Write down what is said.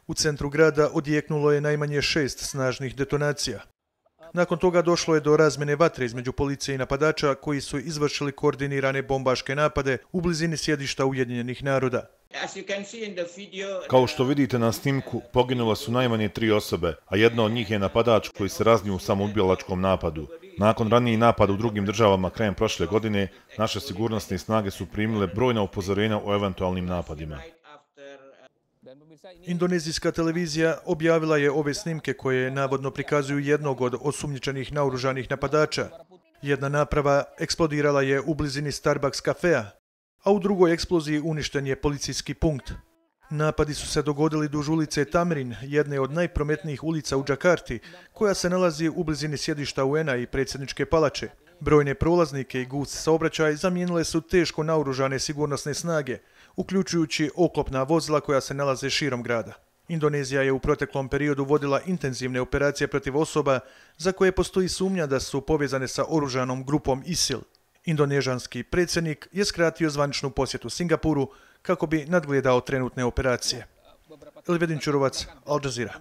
U centru grada odjeknulo je najmanje 6 snažnih detonacija. Nakon toga došlo je do razmjene vatre između policije i napadača koji su izvršili koordinirane bombaške napade u blizini sjedišta Ujedinjenih naroda. Kao što vidite na snimku, poginule su najmanje 3 osobe, a jedna od njih je napadač koji se raznio u samoubilačkom napadu. Nakon ranijih napada u drugim državama krajem prošle godine, naše sigurnosne snage su primile brojna upozorenja o eventualnim napadima. Indonezijska televizija objavila je ove snimke koje navodno prikazuju jednog od osumnjičenih naoružanih napadača. Jedna naprava eksplodirala je u blizini Starbucks kafea, a u drugoj eksploziji uništen je policijski punkt. Napadi su se dogodili duž ulice Tamrin, jedne od najprometnijih ulica u Džakarti, koja se nalazi u blizini sjedišta UN-a i predsjedničke palače. Brojne prolaznike i gust saobraćaj zamijenile su teško naoružane sigurnosne snage, uključujući oklopna vozila koja se nalaze širom grada. Indonezija je u proteklom periodu vodila intenzivne operacije protiv osoba za koje postoji sumnja da su povezane sa oružanom grupom ISIL. Indonežanski predsjednik je skratio zvaničnu posjetu Singapuru kako bi nadgledao trenutne operacije. Elvedin Čurovac, Al Jazeera.